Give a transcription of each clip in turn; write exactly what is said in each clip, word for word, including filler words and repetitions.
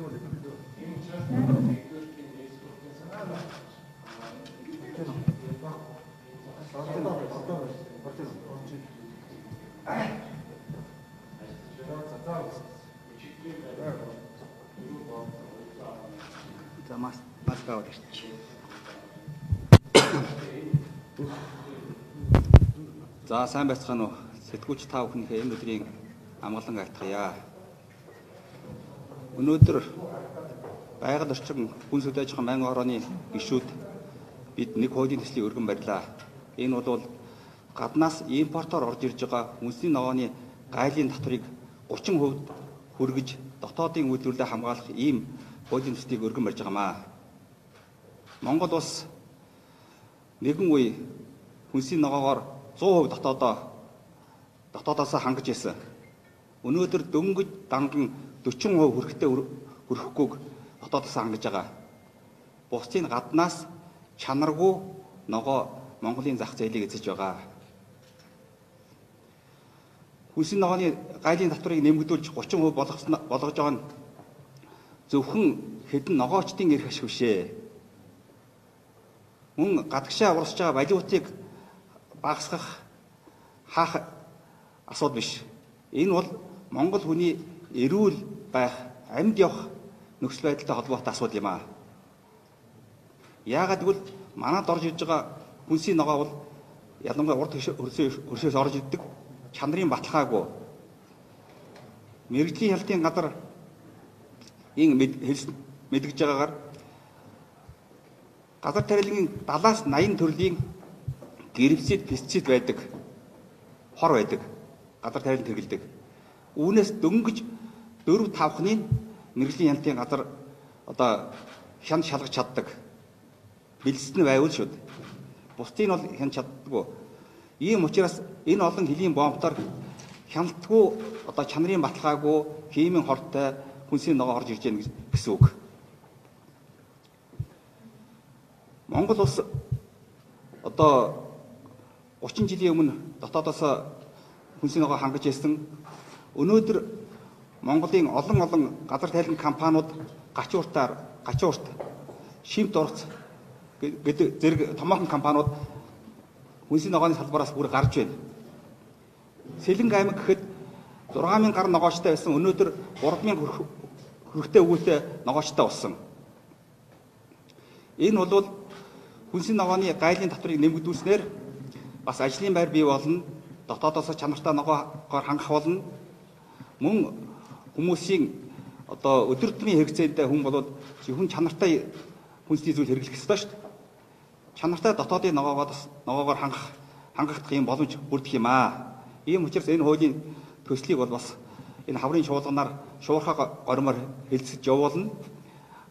За мас маска аваад ирчих. За сайн байцгаана уу. Сэтгүүлч та бүхнийхээ энэ өдрийн амгалан айлтгая. Өнөөдөр байгаль орчин хүн сүлд аж ахуйн байнгын хорооны гишүүд бид нэг хуулийн төслийн өргөн барьлаа. Энэ бол гаднаас импортоор орж ирж байгаа үндэсний ногооны гайлын татварыг гурван хувьд хүргэж дотоодын үйлдвэрлэлээ хамгаалах ийм хуулийн төслийг өргөн барьж байгаамаа. Монгол улс нэгэн үе хүнсний ногоогоор сто хувь дотоодоо дотоодоос хангаж ирсэн. Өнөөдөр дөнгөж данган сорок хувь хүрэхтэй хүрэхгүйг дотоодоос хангаж байгаа. Бусдын гаднаас чанаргүй ногоо Монголын зах зээлийг эзэж байгаа. Хүнсний ногооны гайлын татварыг нэмэгдүүлж гурван хувь болгож болгож байгаа нь зөвхөн хэдэн ногоочдын эрх ашиг бишээ. Мөн гадагшаа урсж байгаа валютыг багасгах хаах асуудал биш. Энэ бол Монгол хүний эрүүл байх, амьд явах нөхцөл байдалтай холбоотой асуудал юм аа. Яагаад гэвэл манад орж иж байгаа хүнсний ногоо бол ялангуяа урд хөршөөс орж ирдэг чанарын баталгаагүй. Мэргэжлийн хяналтын газар ин мэдгэж байгаагаар газар тариалангийн дадлаас наян төрлийн гербицид, пестицид байдаг, хор байдаг, газар тариалан тэргэлдэг. Үүнээс дөнгөж дөрв тавхныг мэргэжлийн хяналтын газар одоо хянд шалгаж чаддаг. Бэлдсэн нь байвал шүүд. Бусдыг нь бол хянд чаддаггүй. Ийм учраас энэ олон хөлийн бомбтоор хяналтгүй одоо чанарын баталгаагүй химийн хортой хүнсний ногоо орж ирж байна гэсэн үг. Монгол улс одоо гурван жилийн өмнө дотоодоос хүнсний ногоо хангаж ирсэн. Өнөөдөр Монголын олон олон газар тариалан компаниуд гачууртаар гачуурт шимт ургац гэдэг зэрэг томоохон компаниуд хүнсний ногооны салбараас бүр гарч байна. Сэлэнг аймаг гэхэд зургаан мянган гаруй ногоочтой байсан. Өнөөдөр гурван мянган хүрэхтэй өвөлтэй ногоочтой болсон. Энэ бол хүнсний ногооны гайлын татварыг нэмэгдүүлснээр бас ажлын байр бий болно. Дотоодоос чанартай ногоогоор хангах болно. Мөн хүмүүсийн одоо өдөр тутмын хэрэгцээтэй хүн бол хүн чанартай хүнсний зүйл хэрэглэх ёстой шүү дээ. Чанартай дотоодын ногоогоос ногоогоор хангах хангахдах юм боломж бүрдэх юм аа. Ийм учраас энэ хуулийн төслийг бол бас энэ хаврын шуулганаар шуурхаа гормоор хэлцэж явуулна.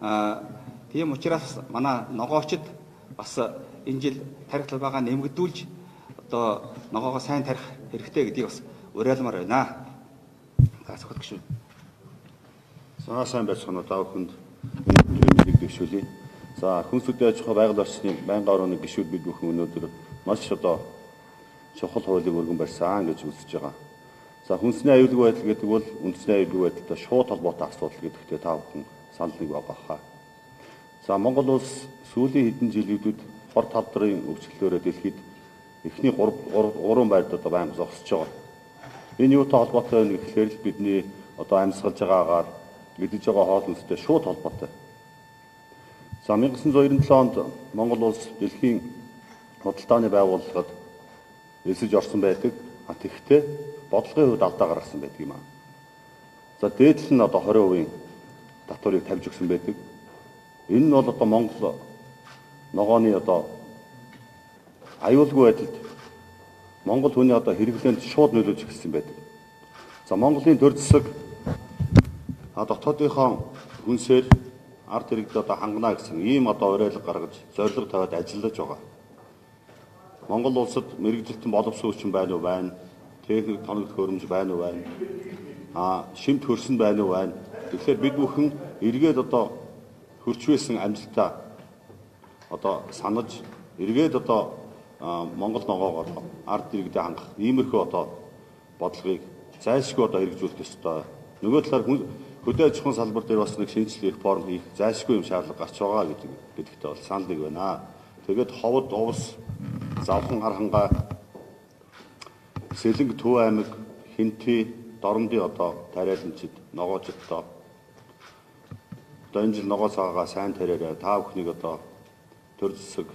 Аа тийм учраас манай ногоочд бас энэ жил тарих талбайгаа нэмэгдүүлж одоо ногоогоо сайн тарих хэрэгтэй гэдгийг бас уриалмаар байна. За сөхөд гişүн. За сайн байцгаана уу та бүхэнд өнөөдрийн мэдээг дэвшүүлье. За хүн сүлд аж ахуй байгаль орчны байнгын орооны гишүүд бид бүхэн өнөөдөр маш одоо чухал хуулийг өргөн барьсан гэж үзэж байгаа. За хүнсний аюулгүй байдал гэдэг бол үндэсний аюулгүй байдалтай шууд холбоотой асуудал гэдэгтээ та бүхэн санал нэг байгаа хаа. За Монгол улс сүүлийн хэдэн жилүүдэд хор талдрын өвчлөлөөрөө дэлхийд эхний гурван байрд одоо байнга зогсож байгаа. Энэ юутай холбоотой вэ гэхээр л бидний одоо амьсгалж байгаагаар идэж байгаа хоол хүнстэй шууд холбоотой. За 천구၉九онд Монгол улс дэлхийн худалдааны байгууллагад элсэж орсон байдаг. А тэгэхдээ бодлогын хувьд алдаа гаргасан байдаг юм аа. За дээдл нь одоо двадцать хувийн татварыг тавьж өгсөн байдаг. Энэ нь бол одоо Монгол ногооны одоо аюулгүй байдалд Монгол хүний одоо хэрэглээнд шууд нөлөөлж эхэлсэн байдаг. За Монголын төр засаг а дотоодынхон хүнсээр ард иргэдэд одоо хангана гэсэн ийм одоо уриалга гаргаж зорилго тавиад ажиллаж байгаа. Монгол улсад мэрэгжилтэн боловсон хүчин байна уу байна? Техник тоног төхөөрөмж байна уу байна? А шимт хөрсөн байна уу байна? Тэгэхээр бид бүхэн эргээд одоо хөрч байсан амжилтаа одоо санаж эргээд одоо Монгол ногоогоор ард иргэдэд хангах иймэрхүү одоо бодлогыг зайлшгүй одоо хэрэгжүүлэх ёстой. Нөгөө талаар хөдөө аж ахуйн салбар дээр бас нэг шинжилгээ реформ хийх зайлшгүй юм шаардлага гарч байгаа гэдэг гэдэгтээ бол санал нэг байна. Тэгээд ховд, увс, завхан хархангаа, Сэлэнг, Төв аймаг, Хинтвэ, Доромдын одоо тариаланчид, ногоочд одоо одоо энэ жил ногоо цагаагаа сайн тариараа та бүхнийг одоо төр зэсэг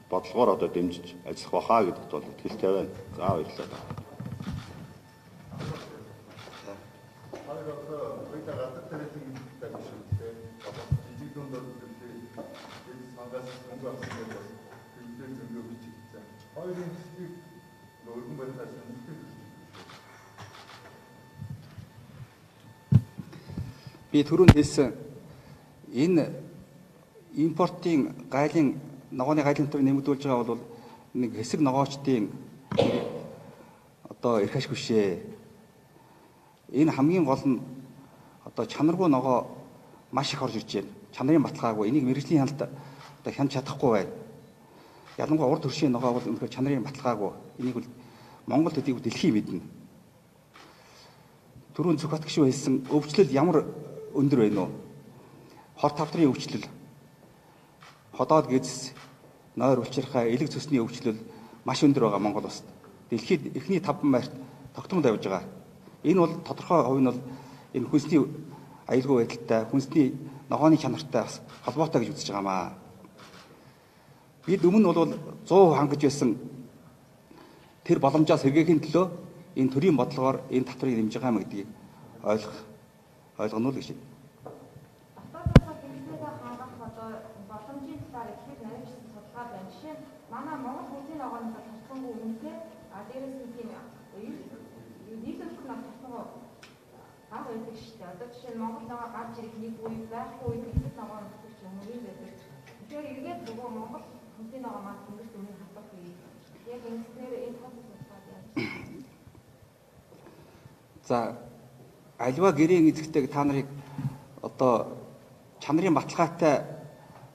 бодлогоор одоо дэмжиж ажиллах бахаа гэдэгт бол итгэлтэй байна. За баярлалаа. Хоёрын хэсгийг өргөн барихаас үнэлдэг. Би түрүүнд хэлсэн энэ импортын гайлын ногооны гайлын төлөв нэмэгдүүлж байгаа бол нэг хэсэг ногоочдын одоо эрх ашиг бишээ. Энэ хамгийн гол нь одоо чанаргүй ногоо маш их орж ирж байна. Чанарын баталгаагүй энийг мэргэжлийн хяналт одоо хянаж чадахгүй байна. Ялангуяа урд төршийн ногоо бол өнөхөр чанарын баталгаагүй. Энийг бол Монгол төдийгүй дэлхий мэднэ. Түрүүн Зүхбат гишүүн хэлсэн өвчлөл ямар өндөр байна уу? Хор тавдрын өвчлөл, ходоод гэзс, нойр улчирхай, элэг цөсний өвчлөл маш өндөр байгаа Монгол улсад. Дэлхийд эхний таван байрт тогтмол тавьж байгаа. Энэ бол тодорхой хувь нь бол энэ хүнсний аюулгүй байдалтай, хүнсний ногооны чанартай бас холбоотой гэж үзэж байгаамаа. Бид өмнө бол сто процент хангаж байсан тэр боломжоос сэргээхийн төлөө энэ төрийн бодлогоор энэ татварыг нэмж байгаа юм гэдгийг ойлгох ойлгоно л гэж байна. Автодороо хэмжээгээ хангах одоо боломжийн талаар ихээр нарийнчсан судалгаа байна. Жишээ нь манай Монгол хүнсний ногооны татваргүй үнэтэй а дээрээс нь тийм нийлүүлэх нь татваргүй баг байдаг шүү дээ. Одоо жишээ нь Монгол ногоо гарч ирэх нэг үе байхгүй үед хэсэг ногооны татварч юм уу байдаг. Тэгэхээр эргээд нөгөө Монгол хүнсний ногоо маань тэнгэрт үнэ хатахгүй. Яг ингэснээр энэ процесс судалгаа яаж. За альва гэрийн эзэгтэй та нарыг одоо чанарын баталгаатай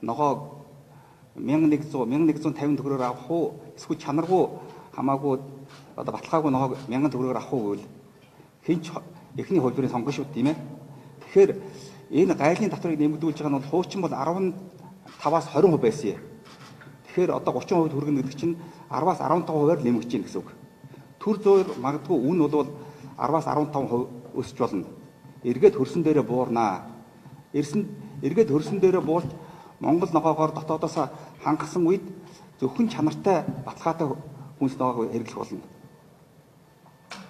ногоо мянга нэгэн тавин төгрөгөөр авах уу эсвэл чанаргүй хамаагүй одоо баталгаагүй ногоо мянган төгрөгөөр авах уу гэвэл хинч эхний хөлбөрийн сонгоно шүү тийм ээ. Тэгэхээр энэ гайлын татварыг нэмэгдүүлж байгаа нь бол хуучин бол арван таваас хорин хувь байсан юм. Тэгэхээр одоо гучин хувь хүргэнэ гэдэг чинь араваас арван таван хувиар нэмэгдэж байна гэсэн үг. Төр зуур магадгүй үн бол араваас арван таван хувь өсч болно. Эргээд хөрсөн дээрээ буурнаа. Эрсэн эргээд хөрсөн дээрээ буулж Монгол ногоогоор дотоодоос хангасан үед зөвхөн чанартай баталгаатай хүнс ногоог хэрэглэх болно.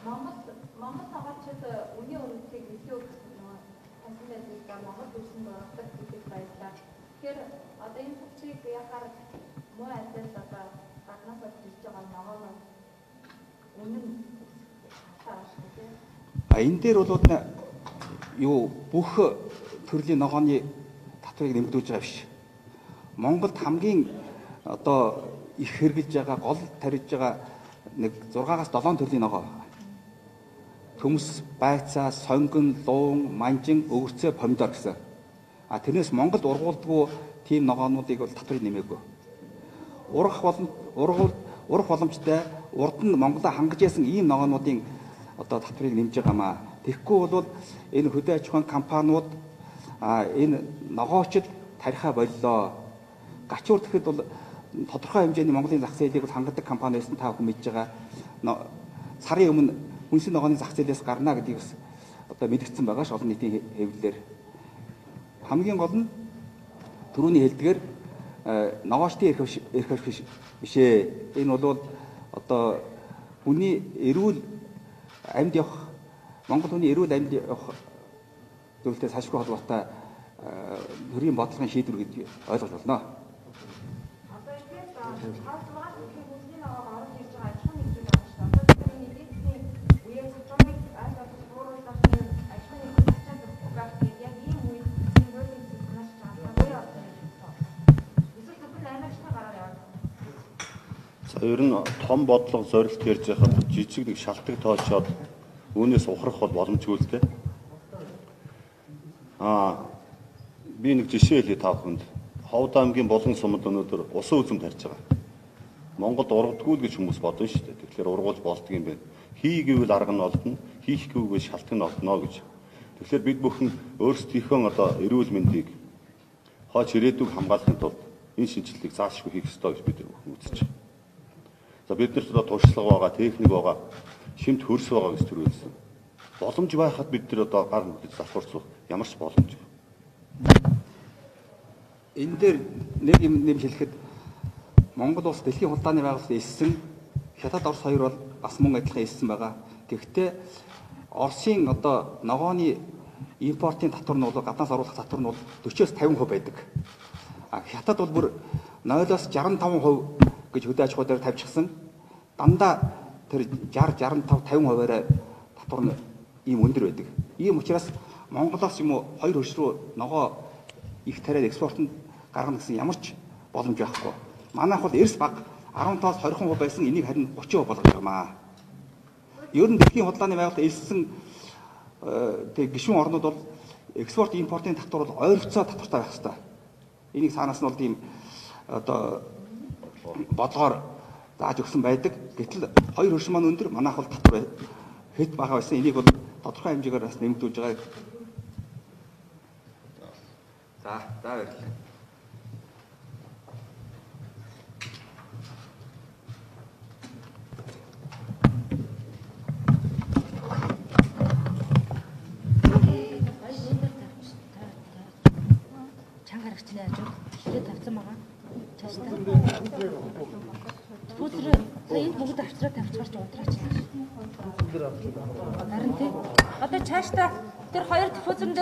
Монгол Монгол ногоочд үнийн үнэлтийг илүү тасалбарлах Монгол хөрсөн дөрөвдөг гэдэг баярлалаа. Тэгэхээр одоо энэ процессыг яхаар муу айдас одоо гаднаас ирж байгаа ногоог үнэн А энэ дээр бол юу бүх төрлийн ногооны татварыг нэмэгдүүлж байгаа биш. Монголд хамгийн одоо их хэрэгжилж байгаа гол тарьж байгаа нэг зургаас долоон төрлийн ногоо. Төмс, байцаа, сонгон, луун, манжин, өвөрцөө, помидор гэсэн. А тэрнээс Монголд ургуулдгүй тийм ногоонуудыг бол татварыг нэмээгүй. Урах болон ургуул урах боломжтой урд нь Монголоо хангаж яасан ийм ногоонуудын одоо татварыг нэмж байгаамаа. Тэгэхгүй бол энэ хөдөө аж ахуйн компаниуд а энэ ногоочд тарихаа боллоо. Гачуур тэгэхэд бол тодорхой хэмжээний Монголын зах зээлийг бол хангадаг компани байсан та бүхэн мэдж байгаа. Сарын өмнө хүнсний ногооны зах зээлээс гарна гэдгийг бас одоо мэдгдсэн байгаа ш олон нийтийн хэвлэлээр. Хамгийн гол нь түрүүний хэлдгээр ногоочдын эрх эрх бишээ. Энэ бол одоо хүний эрүүл амьд явах Монгол хүний эрүүл амьд явах зөвлөлтөд салшгүй холбоотой төрийн бодлогын шийдвэр гэж ойлгож байна. Одоо ихээс хаалцмаас их хүнсний ногоог орж ирж байгаа ажил нэгжүүд байна шүү дээ. Одоо тэрний нийтний үеийн цочмыг аль болох бууруулах нь ажил нэгжүүд ачаад өгөх яг ийм үед энэ хуулийн системээс чанартай үе орсон юм байна. Эсвэл зөвхөн аймагчны гараар яваад. За ер нь том бодлого зорилт ярьж байхад жижиг нэг шалтгаан тоочоод үүнээс ухрах бол боломжгүй л дээ. Аа би нэг жишээ хэлье та бүхэнд. Ховд аймгийн Булган сумд өнөөдөр усан үзэм тарьж байгаа. Монголд ургадгүй л гэж хүмүүс бодно шүү дээ. Тэгэхээр ургуулж болдго юм байна. Хий гэвэл арга нь олдно, хийх гэвэл шалтгаан нь олдно гэж. Тэгэхээр бид бүхэн өөрсдийнхөө одоо эрүүл мэндийг хойч ирээдүйг хамгаалахын тулд энэ шинжилгээг заашгүй хийх ёстой гэж бид бүхэн үзэж байна. За биднэрт одоо туршлага байгаа, техник байгаа, шимт хөрс байгаа гэж төрүүлсэн. Боломж байхад бид нар одоо гар нүдэж залхуурцах ямар ч боломж. Энэ дээр нэг юм нэм хэлэхэд Монгол улс дэлхийн худалдааны байгууллагад элсэн, Хятад Орос хоёр бол бас мөн адилхан элсэн байгаа. Гэхдээ Оросын одоо ногооны импортын татвар нь бол гаднаас оруулах татвар нь бол дөрвөөс тавин хувь байдаг. А Хятад бол бүр нойлоос жаран таван хувь гэж хөдөө аж ахуй дээр тавьчихсан. Дандаа тэр шестьдесят, шестьдесят и cinque, тавин хувиараа татвар нь ийм өндөр байдаг. Ийм учраас Монголоос юм уу хоёр хөрш рүү ногоо их тариад экспортод гаргана гэсэн ямар ч боломж байхгүй. Манайх бол эрс баг десяттоос двадцать хувь байсан, энийг харин тридцать хувь болгож байгаамаа. Ер нь дэлхийн худалдааны байгууллага элсэн тэг гишүүн орнууд бол экспорт импортын татвар бол ойролцоо татвартай байх хэрэгтэй. Энийг цаанаас нь бол тийм одоо бодлогоор зааж өгсөн байдаг. Гэтэл хоёр хөрш маань өндөр, манайх бол татвар хэд бага байсан. Энийг бол тодорхой хэмжээгээр бас нэмэгдүүлж байгаа. За, за баярлалаа. Чангарагч нэ ажиг хэрэг тавьсан байгаа. Цаашдаа. Түлэр энэ бүгд авчраа тавьчихарч удраач. Харин тий. Одоо цаашдаа тэр хоёр диффузер